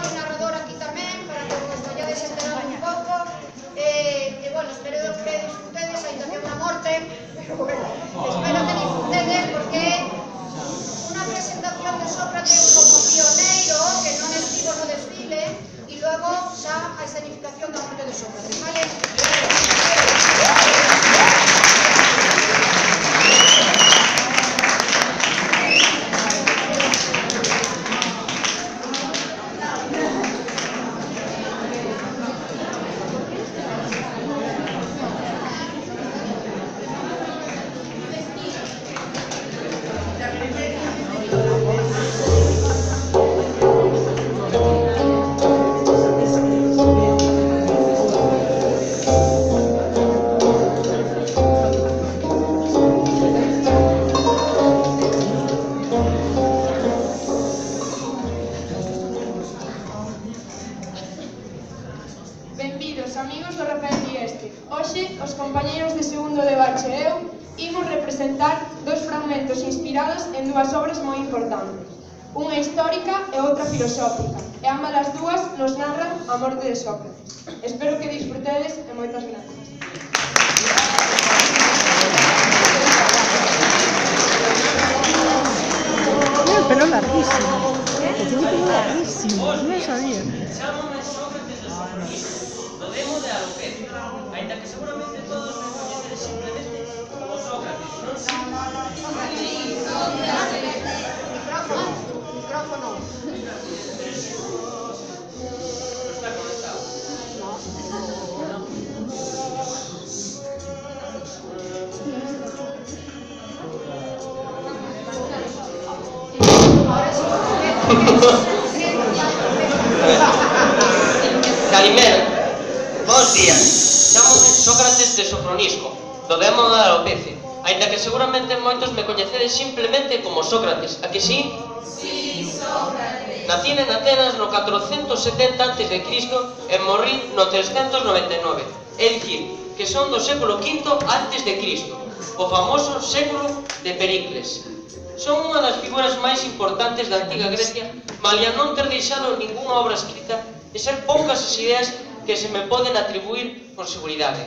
mi narrador aquí tamén, para que vos vayades enterando un pouco. Bueno, espero que disfrutedes, ainda que é unha morte, pero bueno, espero que disfrutedes, porque é unha presentación de Sócrates como pioneiro, que non estivo no desfile, e logo xa a escenificación da morte de Sócrates, vale? Benvidos, amigos do Rafael Dieste. Hoxe, os compañeiros de segundo de bache e eu imos representar dos fragmentos inspirados en dúas obras moi importantes, unha histórica e outra filosófica, e ambas as dúas nos narran a morte de Sócrates. Espero que disfrutedes e moitas gracias. Tiene el pelo larguísimo. Tiene el pelo larguísimo. No lo sabía. Chámame Sócrates de Sofronisco, do demo de alopecia, ainda que seguramente todos me coñeceres simplemente como Sócrates, non sei? Micrófono. Está conectado. Calimero, bons días. Chámome Sócrates de Sofronisco, do demo da alopecia, ainda que seguramente moitos me coñecedes simplemente como Sócrates, a que sí? Sí, Sócrates. Nacín en Atenas no 470 a.C. e morrí no 399, é dicir, que son do século V a.C., o famoso século de Pericles. Son unha das figuras máis importantes da antiga Grecia, malia non ter deixado ningunha obra escrita e ser poucas as ideas que se me poden atribuir con seguridade.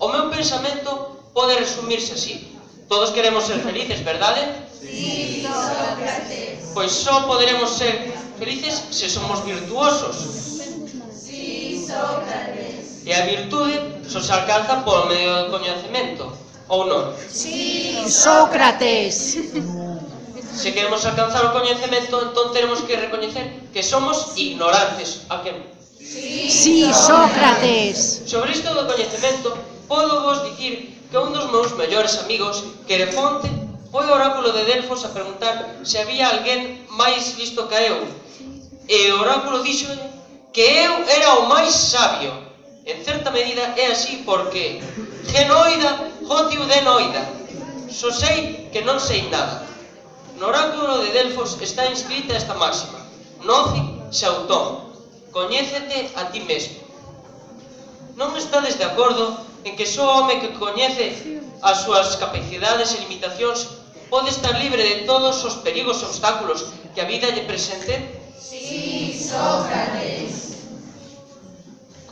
O meu pensamento pode resumirse así: todos queremos ser felices, verdade? Sí, Sócrates. Pois só poderemos ser felices se somos virtuosos. Sí, Sócrates. E a virtude só se alcanza polo medio do coñecemento, ou non? Sí, Sócrates. Se queremos alcanzar o coñecemento, entón teremos que recoñecer que somos ignorantes. A que non? Sí, Sócrates. Sobre isto do coñecemento, podo vos dicir que un dos meus mellores amigos, Querefonte, foi ao oráculo de Delfos a preguntar se había alguén máis listo que eu. E o oráculo dixo que eu era o máis sabio. En certa medida é así porque genoida, hotiu denoida. Só sei que non sei nada. No oráculo de Delfos está inscrita esta máxima: Noci se autón, coñécete a ti mesmo. Non estades de acordo en que só o home que coñece as súas capacidades e limitacións pode estar libre de todos os perigos e obstáculos que a vida lle presente? Sí, Sócrates.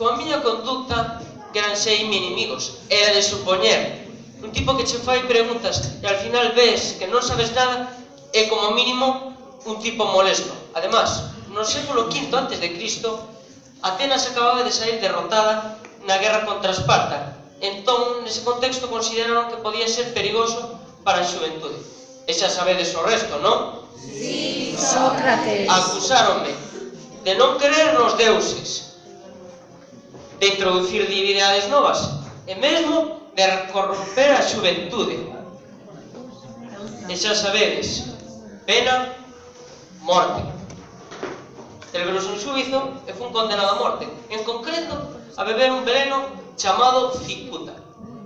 Coa miña conducta, que eran seimi inimigos, era de supoñer. Un tipo que che fai preguntas e al final ves que non sabes nada é como mínimo un tipo molesto. Además, no século V a.C., Atenas acababa de sair derrotada na guerra contra Esparta. Entón, nese contexto, consideraron que podía ser perigoso para a xuventude. E xa sabedes o resto, non? Sí, Sócrates. Acusáronme de non creer nos deuses, de introducir divinidades novas e mesmo de corromper a xuventude. E xa sabedes, pena, morte. Celebrouse un xuizo e fun condenado a morte, en concreto a beber un veneno chamado cicuta.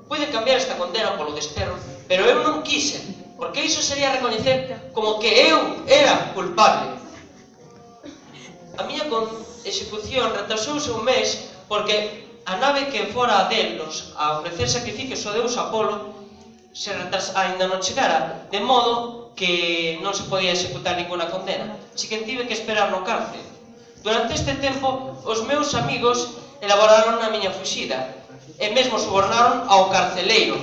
Puide cambiar esta condena polo desterro, pero eu non quise, porque iso sería recoñecer como que eu era culpable. A miña execución retrasouse un mes porque a nave que fora a Delos a ofrecer sacrificios ao deus Apolo ainda non chegara, de modo que non se podía executar ninguna condena, así que tive que esperar no cárcel. Durante este tempo, os meus amigos elaboraron a miña fuxida e mesmo subornaron ao carceleiro.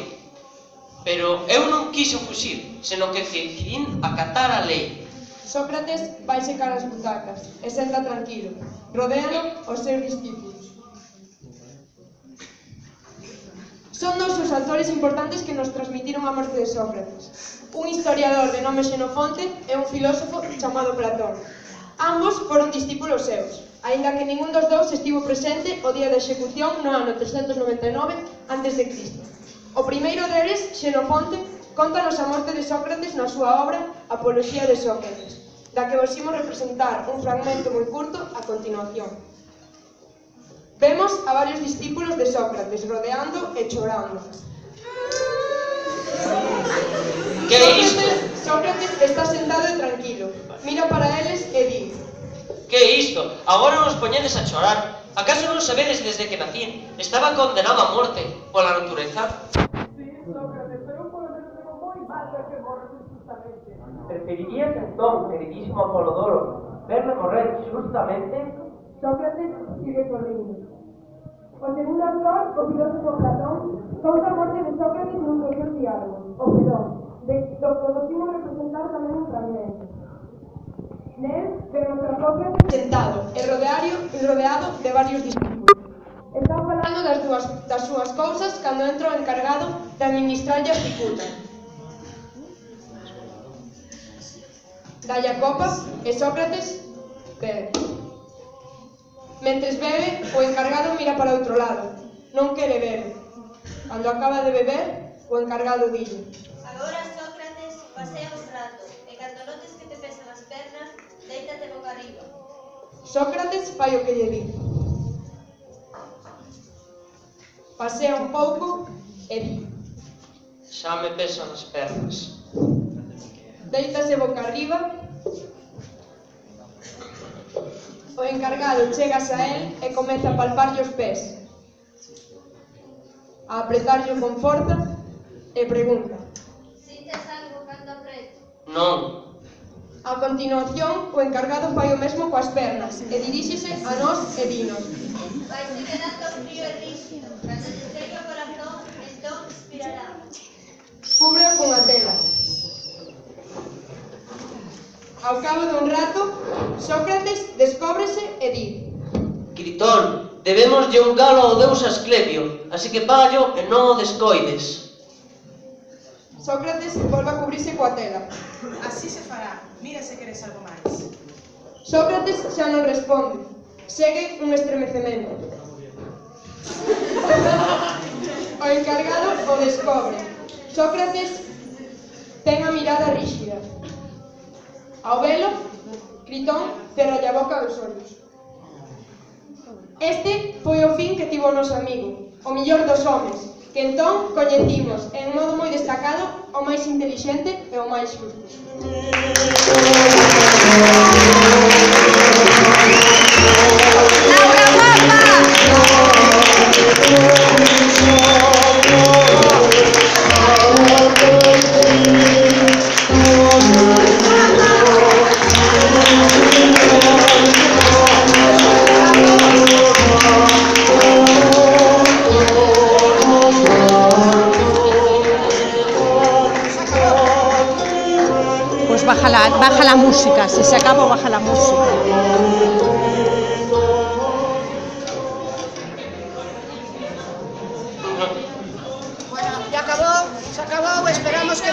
Pero eu non quixo fuxir, senón que decidín acatar a lei. Sócrates vai secar as butacas e senta tranquilo, rodeano os seus discípulos. Son dous os autores importantes que nos transmitiron a morte de Sócrates, un historiador de nome Xenofonte e un filósofo chamado Platón. Ambos foron discípulos seus, aínda que ningún dos dous estivo presente o día da execución no ano 399 a.C. O primeiro deles, Xenofonte, contanos a morte de Sócrates na súa obra Apoloxía de Sócrates, da que vos imos representar un fragmento moi curto a continuación. Vemos a varios discípulos de Sócrates rodeando e chorando. Que é isto? Sócrates está sentado e tranquilo, mira para eles e di: Que é isto? Agora nos poñedes a chorar. Acaso non sabedes desde que nacín? Estaba condenado a morte pola natureza. Preferirías entón, queridísimo Apolodoro, verme morrer justamente? Sócrates sigue corriendo. O segundo autor, o filósofo Platón, conta a morte de Sócrates nun dos seus diálogos, o Fedón, do que vos imos representar tamén un fragmento. Nel vemos a Sócrates sentado e rodeado de varios discípulos. Están falando das súas cousas cando entra o encargado de administrarlle a cicuta. Dalle a copa e Sócrates bebe. Mentres bebe, o encargado mira para outro lado. Non quere beber. Cando acaba de beber, o encargado dille: Agora, Sócrates, pasea un rato, e cando notes que te pesan as pernas, déitate boca arriba. Sócrates fai o que lle di. Pasea un pouco e di: Xa me pesan as pernas. Deítase boca arriba. O encargado chegas a él e comeza a palparlle os pés, a apretarlle con forza e pregunta: Sintes algo cando apreto? Non. A continuación, o encargado fai o mesmo coas pernas e diríxese a nós e dinos: Vaise quedando frío e rígido. Cando te chegue o corazón, entón expirará. Cúbreo cunha tela. Ao cabo dun rato, Sócrates descóbrese e di: Gritón, debémoslle un galo ao deus Asclepio, así que págallo e non o descoides. Sócrates volve a cubrirse coa tela. Así se fará. Mira se queres algo máis. Sócrates xa non responde. Segue un estremecemento. O encargado o descobre. Sócrates ten a mirada ríxida. Ao velo, Gritón cerralle a boca dos ollos. Este foi o fin que tivo o noso amigo, o millor dos homes, que entón coñecimos en modo moi destacado o máis intelixente e o máis xusto. Pues baja la música, si se acaba baja la música. Bueno, ya acabó, se acabó, esperamos que